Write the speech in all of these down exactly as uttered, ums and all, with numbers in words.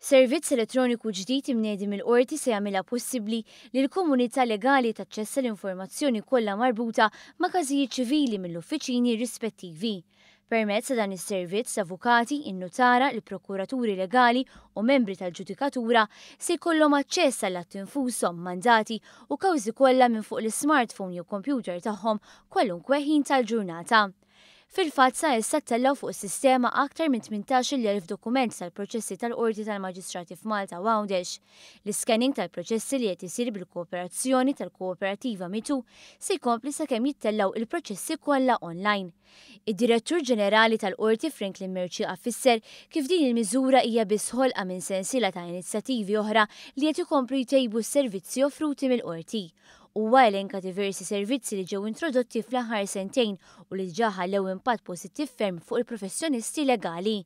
Servizz elettroniku ġdid imniedi mill-Qorti se jagħmilha possibbli li l-komunità legali taċċessa l-informazzjoni kollha marbuta ma' każijiet ċivili mill-uffiċini rispettivi. Permezz ta' dan is-servizz, avukati, in-nutara, il-prokuraturi legali u membri tal-ġudikatura se jkollhom aċċess għall-atti infushom, mandati u kawżi kollha minn fuq l-smartphone jew computer tagħhom kwalunkwe ħin tal-ġurnata. Fil-fatt, sa issa ttellgħu fuq is-sistema aktar minn tmintax-il elf dokument tal-proċessi tal-Qorti tal-Maġistrati f'Malta u Għawdex. L-scanning tal-proċessi, li qed isir bil-kooperazzjoni tal-Kooperativa Mitù, se jkompli sakemm jittellgħu il-proċessi kollha online. Id-Direttur Ġenerali tal-Qorti Franklin Mercieca fisser kif din il-miżura hija biss ħolqa minn sensiela ta' inizjattivi oħra li qed ikomplu jtejbu s-servizzi offruti mill-qorti. Huwa elenka diversi servizzi li ġew introdotti fl-aħħar sentejn u li diġà ħallew impatt pożittiv ferm fuq il-professjonisti legali.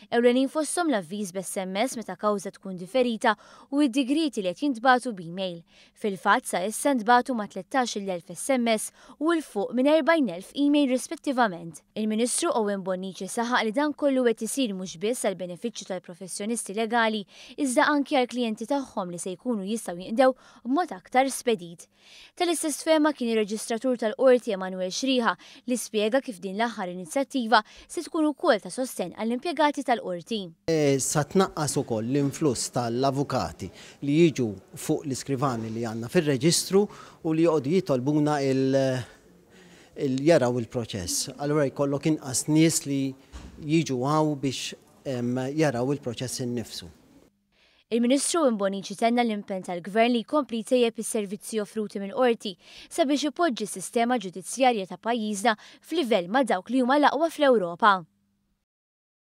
Ewlenin fosthom l-avviż b'S M S meta kawża tkun diferita u id-digriti li qed jintbagħtu b'email. Fil-fatt, sa issa ntbagħtu ma' tlettax-il elf S M S u 'l fuq minn erbgħin elf email rispettivament. Il-Ministru Owen Bonnici saħaq li dan kollu qed isir mhux biss għal benefiċċju tal-professjonisti legali, iżda anki għal klijenti tagħhom li se jkunu jistgħu jinqdew b'mod aktar spedit. Tal-istess fehma kien ir-reġistratur tal-Qorti Emanuel Xriħa, li spjega kif din l-aħħar inizjattiva se tkun ukoll ta' sosten għall-impjegati tal-qorti. E, sa tnaqqas ukoll l-influss tal-avukati li jiġu fuq l-iskrivani li għandna fir-reġistru u li joqogħdu jitolbuna il- il jaraw il-proċess. Allura jkollok inqas nies li jiġu hawn biex jaraw il-proċess innifsu. Il-Ministru Bonnici tenna l-impenn tal-Gvern li jkompli jtejjeb is-servizzi offruti mill-qorti sabiex ipoġġi s-sistema ġudizzjarja ta' pajjiżna f'livell ma' dawk li huma l-aqwa fl-Ewropa.